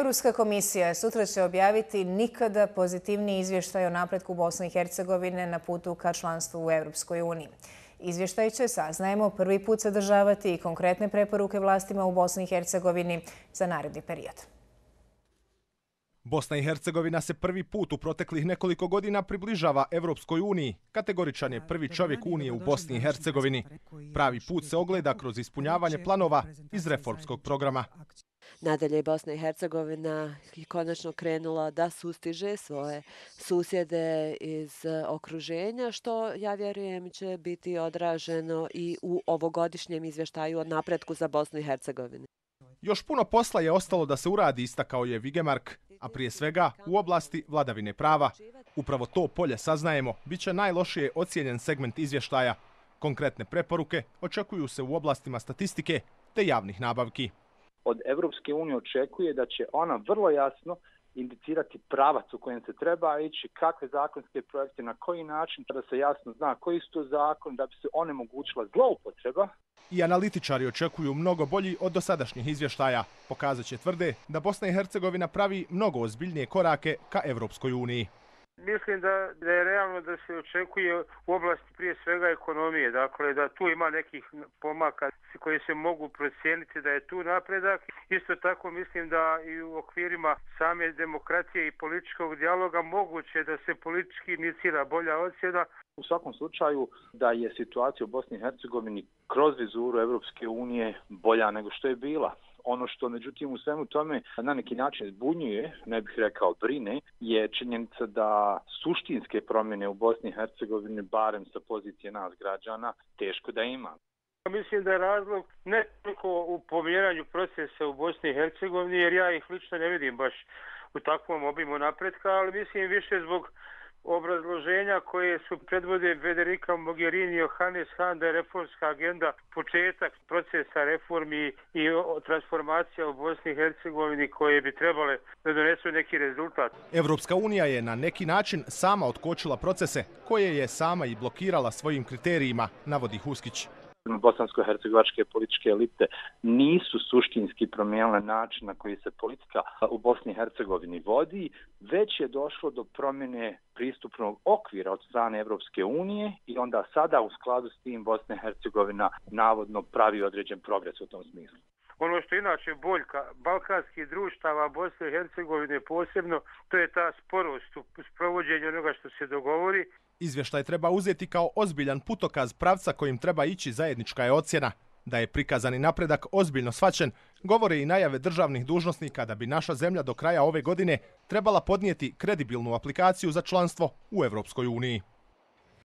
Europska komisija sutra će objaviti nikada pozitivniji izvještaj o napretku Bosne i Hercegovine na putu ka članstvu u Europskoj uniji. Izvještaj će, saznajemo, prvi put sadržavati i konkretne preporuke vlastima u Bosni i Hercegovini za naredni period. Bosna i Hercegovina se prvi put u proteklih nekoliko godina približava Evropskoj uniji. Kategoričan je prvi čovjek Unije u Bosni i Hercegovini. Pravi put se ogleda kroz ispunjavanje planova iz reformskog programa. Nadalje, Bosna i Hercegovina je konačno krenula da sustiže svoje susjede iz okruženja, što, ja vjerujem, će biti odraženo i u ovogodišnjem izvještaju o napretku za Bosnu i Hercegovinu. Još puno posla je ostalo da se uradi, istakao je Vigemark, a prije svega u oblasti vladavine prava. Upravo to polje, saznajemo, bit će najlošije ocijenjen segment izvještaja. Konkretne preporuke očekuju se u oblastima statistike te javnih nabavki. Od Evropske unije očekuje da će ona vrlo jasno indicirati pravac u kojem se treba ići, kakve zakonske projekte, na koji način, da se jasno zna koji su to zakon, da bi se onemogućila zloupotreba. I analitičari očekuju mnogo bolji od dosadašnjih izvještaja. Pokazat će, tvrde, da Bosna i Hercegovina pravi mnogo ozbiljnije korake ka Evropskoj uniji. Mislim da je realno da se očekuje u oblasti prije svega ekonomije, dakle da tu ima nekih pomaka koji se mogu procijeniti da je tu napredak. Isto tako mislim da i u okvirima same demokracije i političkog dijaloga moguće da se politički inicira bolja ocjena. U svakom slučaju da je situacija u Bosni i Hercegovini kroz vizuru Evropske unije bolja nego što je bila. Ono što, međutim, u svemu tome na neki način zbunjuje, ne bih rekao brine, je činjenica da suštinske promjene u Bosni i Hercegovini, barem sa pozicije nas građana, teško da ima. Mislim da je razlog ne toliko u pomjeranju procesa u Bosni i Hercegovini, jer ja ih lično ne vidim baš u takvom obimu napretka, ali mislim više zbog obrazloženja koje su predvode Federica Mogherini i Johannes Hahn da je reformska agenda početak procesa reformi i transformacija u Bosni i Hercegovini koje bi trebale da donesu neki rezultat. Evropska unija je na neki način sama otkočila procese koje je sama i blokirala svojim kriterijima, navodi Huskić. Bosansko-hercegovačke političke elite nisu suštinski promijenile način na koji se politika u Bosni i Hercegovini vodi, već je došlo do promjene pristupnog okvira od strane Evropske unije i onda sada u skladu s tim Bosna i Hercegovina navodno pravi određen progres u tom smislu. Ono što je inače boljka balkanskih društava Bosne i Hercegovine posebno, to je ta sporost u sprovođenju onoga što se dogovori. Izvještaj treba uzeti kao ozbiljan putokaz pravca kojim treba ići, zajednička je ocjena. Da je prikazani napredak ozbiljno shvaćen, govore i najave državnih dužnosnika da bi naša zemlja do kraja ove godine trebala podnijeti kredibilnu aplikaciju za članstvo u Evropskoj uniji.